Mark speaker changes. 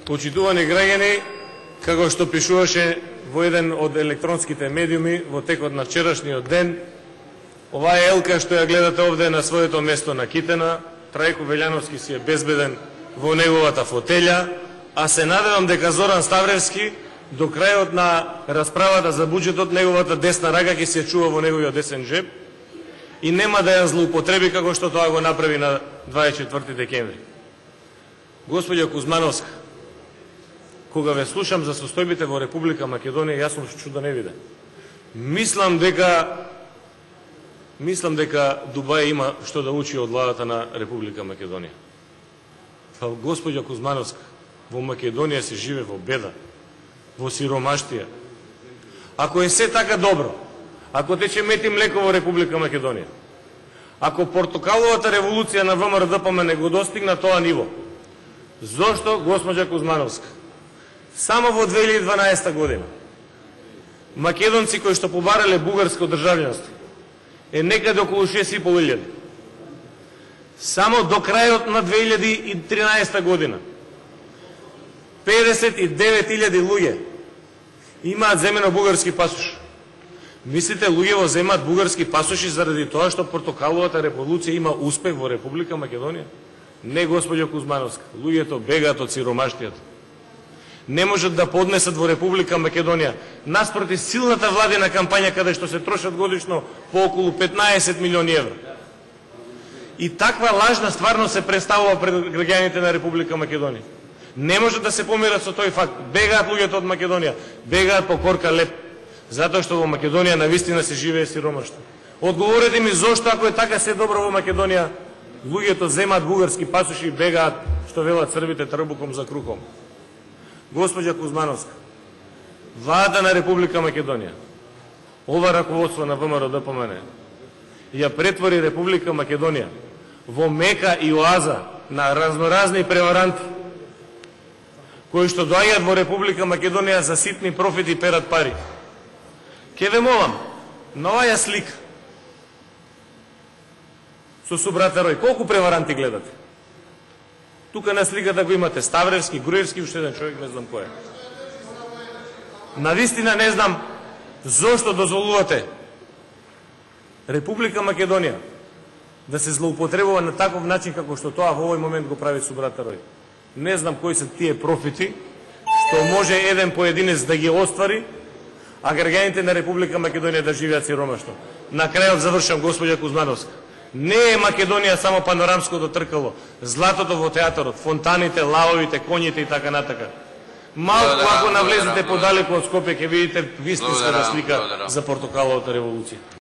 Speaker 1: Почитувани граѓани, како што пишуваше во еден од електронските медиуми во текот на вчерашниот ден, оваа елка што ја гледате овде на своето место на китена, Трајко Велјановски си е безбеден во неговата фотелја, а се надевам дека Зоран Ставревски до крајот на расправата за буџетот неговата десна рага ќе се чува во неговиот десен джеб и нема да ја злоупотреби како што тоа го направи на 24 декември. Господја Кузмановска, кога ве слушам за состојбите во Република Македонија, јас сум чудо невиден. Мислам дека Дубај има што да учи од владата на Република Македонија. Господја Кузмановска, во Македонија се живе во беда, во сиромаштија. Ако е се така добро, ако тече мет и млеко во Република Македонија, ако портокаловата револуција на ВМРО-ДПМН го достигна тоа ниво, зошто, госпоѓа Кузмановска, само во 2012 година македонци кои што побарале бугарско државјанство е некаде околу 6.500. Само до крајот на 2013 година 59.000 луѓе имаат земено бугарски пасош. Мислите, луѓето земаат бугарски пасоши заради тоа што портокаловата револуција има успех во Република Македонија? Не, господјо Кузмановска, луѓето бегаат од сиромаштијата. Не можат да поднесат во Република Македонија наспроти силната владина кампања каде што се трошат годишно по околу 15 милиони евра. И таква лажна стварно се представува пред граѓаните на Република Македонија. Не можат да се помират со тој факт. Бегаат луѓето од Македонија, бегаат по корка леп, затоа што во Македонија навистина се живее сиромашно. Одговорете ми зошто, ако е така се добро во Македонија, луѓето земаат бугарски пасоши и бегаат, што велат србите, трбуком за круком. Господја Кузмановска, владата на Република Македонија, ова раководство на ВМРО-ДПМН, ја претвори Република Македонија во мека и оаза на разноразни преваранти, кои што доаѓаат во Република Македонија за ситни профити и перат пари. Ке ве молам, на оваа слика, со Субрата Рој, колку преваранти гледате? Тука на сликата го имате Ставревски, Груевски, уште еден човек, не знам кој е. Навистина не знам зошто дозволувате Република Македонија да се злоупотребува на таков начин како што тоа во овој момент го прави Субрата Рој. Не знам кои се тие профити што може еден поединец да ги оствари, а граѓаните на Република Македонија да живеат сиромашно. На крајот завршам, господја Кузмановска. Не е Македонија само панорамското тркало, златото во театарот, фонтаните, лавовите, коњите и така натака. Малку ако навлезете подалеку од Скопје ќе видите вистинската слика за портокаловата револуција.